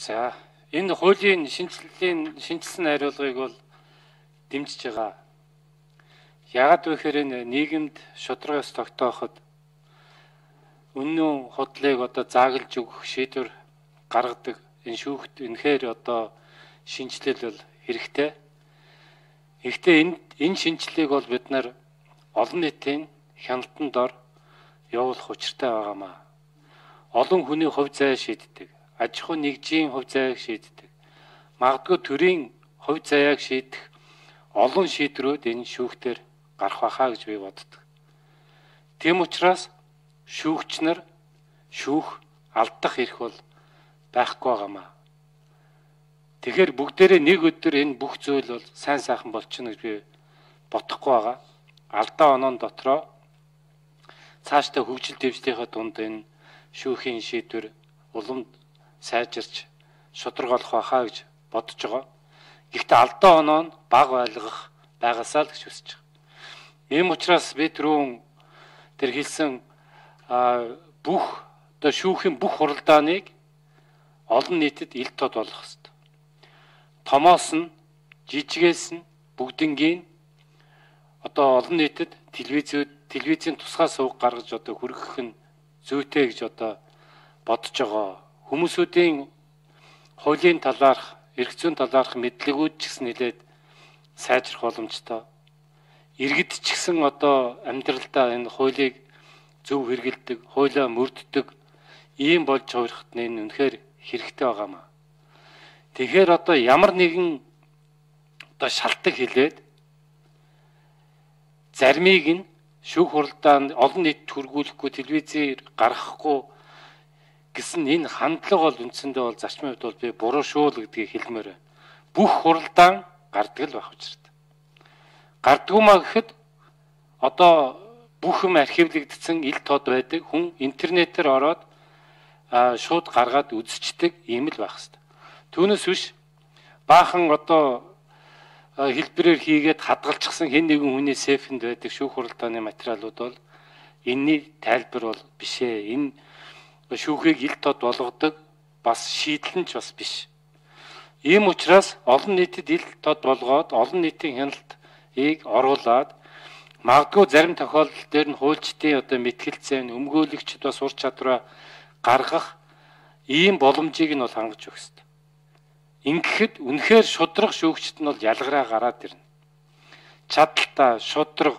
За энэ хуулийн шинжилсэн хариулгыг бол дэмжиж байгаа. Яагаад вэ гэхээр энэ нийгэмд шударгаас тогтооход үнэн худлыг зааглаж өгөх шийдвэр гаргадаг энэ шүүхт үнэхээр шинжилэл бол хэрэгтэй. Гэхдээ энэ шинжилгээг бол бид нар олон нийтийн хяналтанд дор явуулах учиртай байгаамаа. Олон хүний хувь зай шийддэг. Аж ахуй нэгжийн хувь зайг шийддэг. Магадгүй төрийн хувь заяаг шийдэх олон шийдвэрүүд энэ шүүхтэр гарах байхаа гэж би боддог. Тийм учраас шүүгч нар шүүх алдах эрх бол байхгүй байгаамаа. Тэгэхээр бүгдээрээ нэг өдөр энэ бүх зүйл бол сайн сайхан болчихно гэж би бодохгүй байгаа. Алдаа онон дотроо цаашдаа хөгжил дэвшлийнхаа дунд энэ шүүхийн шийдвэр улам сайжирч шударгаалах байхаа гэж бодож байгаа. Гэхдээ алдаа оноо нь бага байлгах байгаасаа л гэж хүсэж байгаа. Ийм учраас би түрүүн тэр хэлсэн бүх шүүхийн бүх хуралдааныг олон нийтэд ил тод болгох хэрэгтэй. Томоос нь жижигээс нь бүгднгийн олон нийтэд телевизийн тусгай сувг гаргаж хүргэх нь зүйтэй гэж бодож байгаа. Хүмүүсүүдийн хуулийн талаарх, эрх зүйн талаарх мэдлэгүүд ч гэсэн нэлээд сайжрах боломжтой. Иргэд ч гэсэн амьдралдаа энэ хуулийг зөв хэрэгэлдэг, хуулиа мөрддөг ийм болж хувирахт энэ үнэхээр хэрэгтэй байгаамаа. Тэгэхээр ямар нэгэн шалтгаан хэлээд заримыг нь шүүх хуралдаанд олон нийт хүргүүлэхгүй, телевизээр гаргахгүй гэсэн энэ хандлага бол үндсэндээ бол зарчмын хувьд бол би буруу шүү л гэдгийг хэлмээр байна. Бүх хуралдаан гардаг л байх учиртай. Гардгуумаа гэхэд бүх юм архивлэгдсэн ил тод байдаг. Хүн интернетээр ороод шууд гаргаад үзчихдэг ийм л байх хэвээр. Түүнээс биш баахан хэлбэрээр хийгээд хадгалчихсан хэн нэгэн хүний сейфэнд байдаг шүүх хуралдааны материалууд бол энэний тайлбар бол биш ээ. Энэ шүүхийг ил тод болгодог бас шийдэл нь ч бас биш. Ийм учраас олон нийтэд ил тод болгоод олон нийтийн хяналтыг оруулаад магадгүй зарим тохиолдол дээр нь хуульчдын мэтгэлцээ өмгөөлөгчд бас ур чадвараа гаргах ийм боломжийг нь бол хангаж өгөх ёстой. Ингэхэд үнэхээр шудраг шүүгчд нь бол ялгараа гараад ирнэ. Чадaltaа шудраг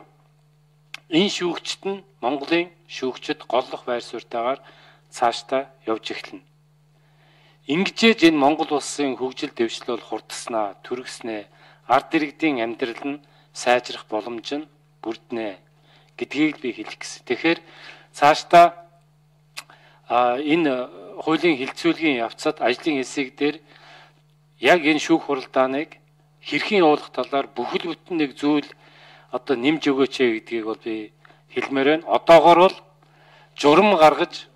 энэ шүүгчд нь Монголын шүүгчд голлох байр суурьтайгаар цаашдаа явж эхэлнэ. Ингэжээж энэ Монгол улсын хөгжил дэвшил бол хурдснаа, түргэснэ, ард иргэдийн амьдрал нь сайжрах боломж нь бүрднэ гэдгийг би хэлэх гэсэн. Тэгэхээр цаашдаа энэ хуулийн хилцүүлгийн явцад ажлын хэсэг дээр яг энэ шүүх хуралдааныг хэрхэн явуулах талаар бүхэл бүтэн нэг зүйл нэмж өгөөч гэдгийг бол би хэлмээр байна. Одоогоор бол журам гаргаж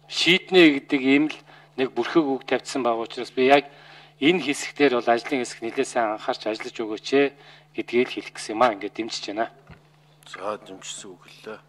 шийднэ гэдэг ийм л нэг бүрхэг үг тавьсан байгаа учраас би яг энэ хэсгээр бол ажлын хэсэг нэлээд сайн анхаарч ажиллаж өгөөч гэдгийг хэлэх гэсэн юм аа. Ингээд дэмжиж байна. За дэмжсэн үг лээ.